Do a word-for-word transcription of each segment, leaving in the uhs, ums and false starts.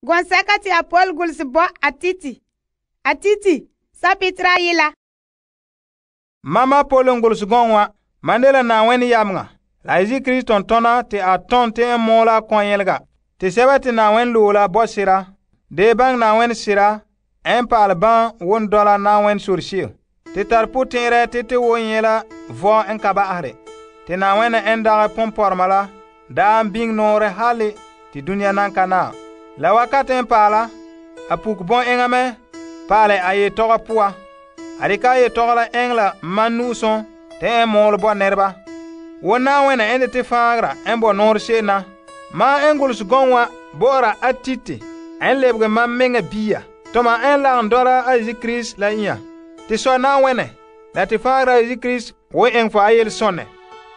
Gɔnsɛka te Apol gulese bo Atiti. Atiti, sapitera ayi la. Mama Apol n gulese gɔŋɔ wa, man dela Na'ayenɛ yameŋa, la Yesu Krista tontona te a tom te n mɔɔla kɔnyelega. Te sɛba te Na'ayenɛ loe la bo sera, de baŋɛ Na'ayenɛ sera, n pa'ale ban won dɔla Na'ayenɛ sore se'em. Te tare potɛn'ɛrɛ te te won nyɛ la vɔ n ka ba'ahare. Te Na'ayenɛ n dagɛ ponpɔrɔma la daa n biŋe nɔɔrɛ hali te dunia nan ka naam. La wakati n paala, a puke bɔn enŋa mɛ pa'alɛ a yetɔgɔ poa. A dikɛ a yetɔgɔ la eŋɛ la man nu'usum te n mɔɔlɛ bo nɛreba. Wo Na'ayenɛ n de te faanra n bo nɔɔrɛ se'em na. Ma n gulese gɔŋɔ wa bo'ora Atiti n lebege mam meŋa bia. Toma n lagom dɔla a Yesu Krista la inya. Te sɔ Na'ayenɛ la te faanra Yesu Krista wo eŋɛ fo a yelesonɛ.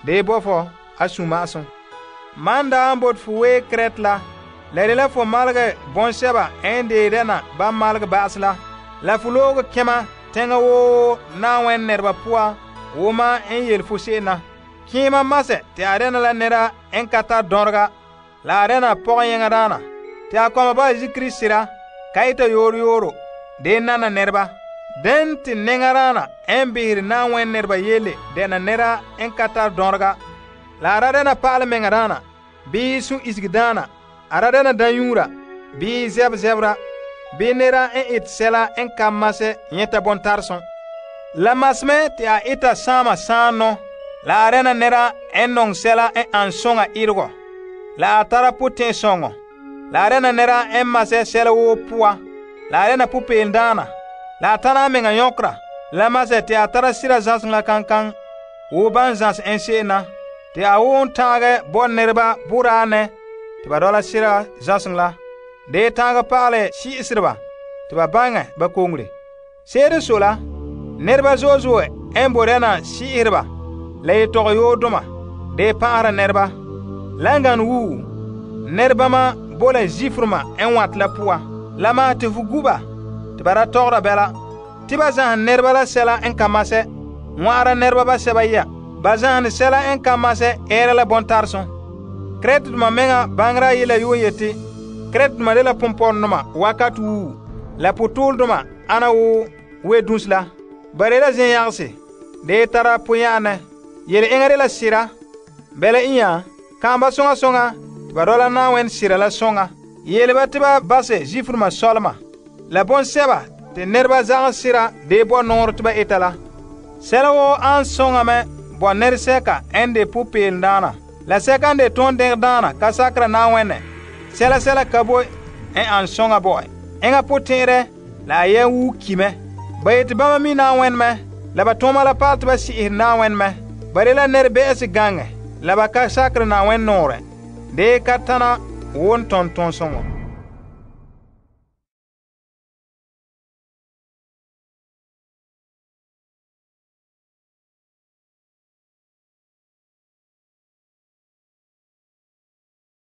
De bo fo a suma'asum. Man da n bot fo wee Krete la, la de la fo malege bɔnsɛba n de dɛna ban malege ba'ase la. La fo looge kɛma teŋa woo Na'ayenɛ nɛreba poa wo ma n yele fo se'em na. Kɩɩma masɛ te a dɛna la nɛra n ka tare dɔnrega, la a dɛna pɔgɔyɛŋadaana. Te a kɔma ba Yesu Krista sera, ka ita yooro yooro, de nana nɛreba. Den te nɛŋadaana n behere Na'ayenɛ nɛreba yele dɛna nɛra n ka tare dɔnrega. La a ra dɛna pa'ale mɛŋadaana, bii sun isigedaana, a ra dɛna danyuura, bii zɛb zɛbra, bii nɛra n ete sɛla n ka masɛ nyɛta bontaresum. La masemɛ te a ita saama saanɔ, la a dɛna nɛra n nɔŋɛ sɛla n an soŋa iregɔ, la a tara potɛn'sɔŋɔ, la a dɛna nɛra n masɛ sɛla woo poa, la a dɛna popeeldaana, la a tana a meŋa nyɔkera, la masɛ te a tara sira zãseŋ la kankaŋ wo ban zãse n se'em na. Te a won taagɛ bo nɛreba boraanɛ te ba dɔla sira zãseŋ la, de taagɛ pa'alɛ si'isreba te ba baŋɛ ba koŋre. Se'ere so la, nɛreba zo'e zo'e n bo dɛna si'isreba la yetɔgɔ yoodoma de pa'ahera nɛreba. La n gane wuu, nɛrebama bo la zifrema n wat la poa. La ma te fo guba te ba da tɔgɔra bɛla, te ba zãhɛ nɛreba la sɛla n ka masɛ, ŋwa'ara nɛreba basɛba ya. Ba zãhene sɛla n ka masɛ ɛɛra la bɔntaresum. Kretedoma meŋa baŋera yela yuun yeti, Kretedoma de la pompɔrɔdoma wakati wuu, la potooledoma ana wo wedunse la. Ba de la zẽn-yagese, de tara poya'anɛ. Yele eŋa de la sera, bɛla inya, kãamba soŋa soŋa te ba dɔla Na'ayenɛ sera la soŋa. Yele ba te ba basɛ zifrema sɔlema, la bɔnsɛba te nɛreba zagẽ sera de bo nɔɔrɛ te ba eta la. Sɛla woo an soŋa mɛ bo nɛresɛka n de popeeldaana, la sɛka n de tõn-dɛŋdaana ka sakera Na'ayenɛ. Sɛla sɛla ka boe n an soŋa bo'ɛ. Eŋa potɛn'ɛrɛ la a yɛn wuu ki mɛ. Ba yeti bama mi Na'ayenɛ mɛ, la ba tʋʋma la paal tɩ ba si'isɛ Na'ayenɛ mɛ. Ba de la nɛrebɛ'ɛse gaŋɛ, la ba ka sakere Na'ayenɛ nɔɔrɛ, de ka tana won tõn tõnsõŋɔ.